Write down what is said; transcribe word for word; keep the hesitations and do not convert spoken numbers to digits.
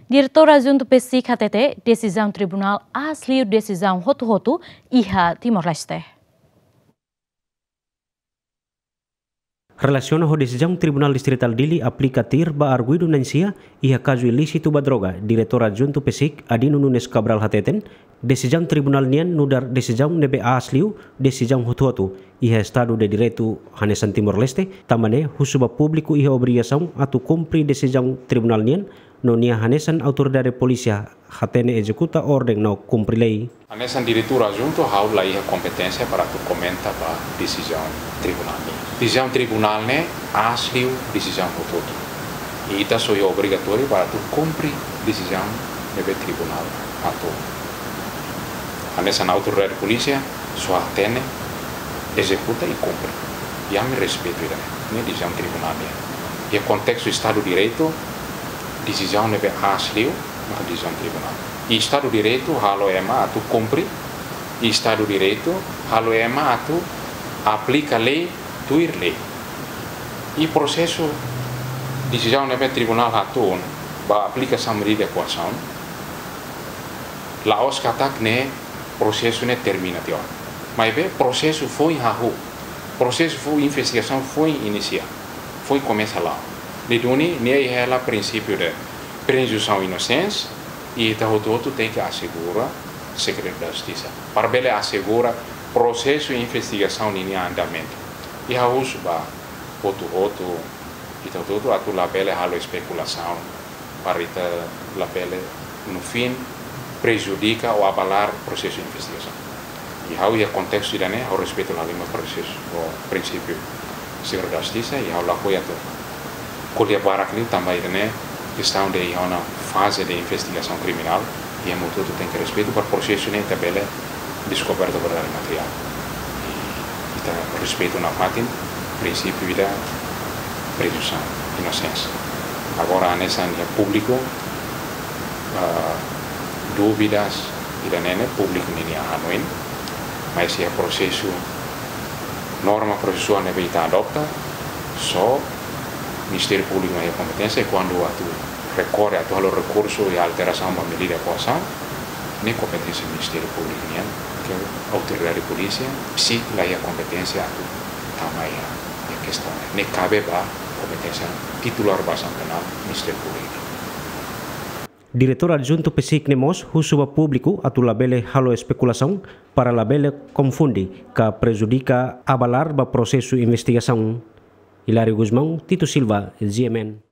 Diretór Adjuntu PCIC hatete, desizaun tribunál aas liu desizaun hotu-hotu iha Timor-Leste. Relasiona ho desizaun Tribunál Distritál Dili aplika tuir ba arguidu na'in-sia iha kazu ilísitu ba droga, Diretór Adjuntu PCIC, Adino Nunes Cabral hateten, desizaun tribunál nian nu'udar desizaun ne'ebé aas liu desizaun hotu-hotu iha Estadu de Direitu hanesan Timor-Leste, tanba ne'e husu ba públiku iha obrigasaun atu kumpre desizaun tribunál nian, no nia hanesan autoridade polísia hatene ezekuta orden no kumpre lei. Hanesan Diretór Adjuntu, ha'u la iha kompeténsia para atu komenta ba desizaun tribunál nian. Desizaun tribunál ne'e aas liu desizaun hotu-hotu. I ita só iha obrigatóriu para atu kumpre desizaun ne'ebé tribunál hato'o. Hanesan autoridade polísia, só hatene, ezekuta i kumpre. I ami respeitu ida-ne'e, ne'e desizaun tribunál nian. Iha kontestu Estadu Direitu, desizaun ne'ebé aas liu, maka desizaun tribunál. I Estadu Direitu halo ema atu kumpre, i Estadu Direitu halo ema atu aplika lei, tuir lei. I prosesu desizaun ne'ebé tribunál hatún ba aplikasaun medida koasaun, la'ós katak ne'e prosesu ne'e termina tiha ona. Maibé prosesu foin hahú, prosesu foin investigasaun foin inisia, foin komesa la'o. Ne'e duni, ne'e iha hela prinsípiu de presunsaun inosénsia, i ita hotu-hotu tenke asegura segredu da justisa. Para bele asegura prosesu investigasaun ninia andamentu. I ha'u husu ba hotu-hotu, ita hotu-hotu atu labele halo espekulasaun, para ita labele, no fim, prejudika ou abalar prosesu investigasaun. I ha'u iha kontestu ida-ne'e, ha'u respeitu la halimar prosesu ou prinsípiu segredu da justisa, i ha'u la apoia atu ko'alia barak liu tanba ida-ne'e kestaun de iha ona faze de investigasaun kriminál, i ema hotu-hotu tenke respeitu para prosesu ne'e ita bele deskoberta verdade materiál. I ita respeitu nafatin prinsípiu ida presunsaun inosénsia. Agora, hanesan iha públiku, ah, dúvidas ida-ne'e ne'e públiku ninia hanoin, mas iha prosesu, norma prosesuál ne'ebé ita adota, só Ministériu Públiku mak iha kompeténsia, i kuandu atu rekorre, atu halo rekursu iha alterasaun ba medida koasaun, ne'e kompeténsia Ministériu Públiku nian, ke autoridade polísia, PCIC la iha kompeténsia atu tama iha, iha kestaun ne'e. Ne'e kabe ba kompeténsia titulár bazasaun penál Ministériu Públiku. Diretór Adjuntu PCIC ne'e mós husu ba públiku atu labele halo espekulasaun para labele konfunde ka prejudika abalar ba prosesu investigasaun. Hilário Gusmão, Tito Silva, G M N.